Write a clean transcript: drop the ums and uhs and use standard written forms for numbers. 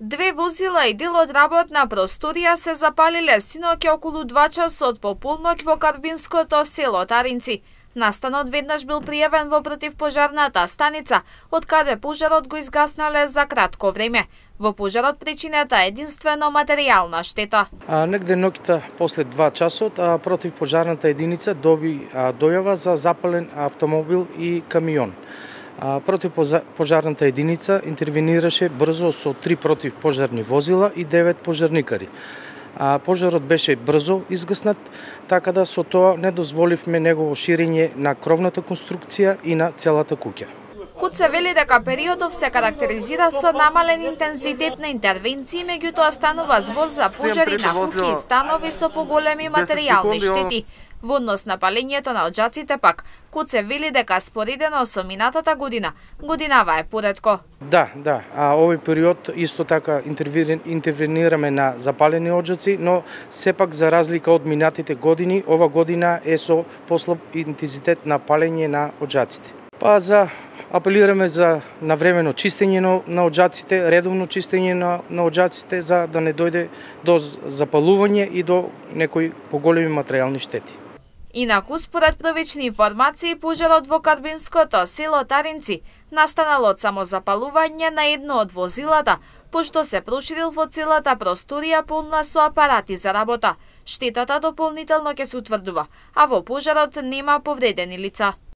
Две возила и дел од работна просторија се запалиле синоќ околу 2 часот по полноќ во карбинското село Таринци. Настанот веднаш бил пријавен во противпожарната станица, од каде пожарот го изгаснале за кратко време. Во пожарот причината е единствено материјална штета. Негде ноќта после 2 часот противпожарната единица доби дојава за запален автомобил и камион. Противпожарната единица интервенираше брзо со 3 противпожарни возила и 9 пожарникари. Пожарот беше брзо изгаснат, така да со тоа не дозволивме негово ширење на кровната конструкција и на целата куќа. КУЦ се вели дека периодов се карактеризира со намален интензитет на интервенции, меѓутоа станува збор за пожари на куќи и станови со поголеми материјални штети. Во однос на палењето на оџаците пак, КУЦ се вели дека споредено со минатата година, годинава е поретко. Да, овој период исто така интервенираме на запалени оџаци, но сепак за разлика од минатите години, ова година е со послаб интензитет на палење на оџаците. Апелираме за навремено чистење на оџаците, редовно чистење на оџаците, за да не дојде до запалување и до некои поголеми материјални штети. Инаку, според првични информации, пожарот во карбинското село Таринци настанал од самозапалување на едно од возилата, пошто се проширил во целата просторија полна со апарати за работа. Штетата дополнително ќе се утврдува, а во пожарот нема повредени лица.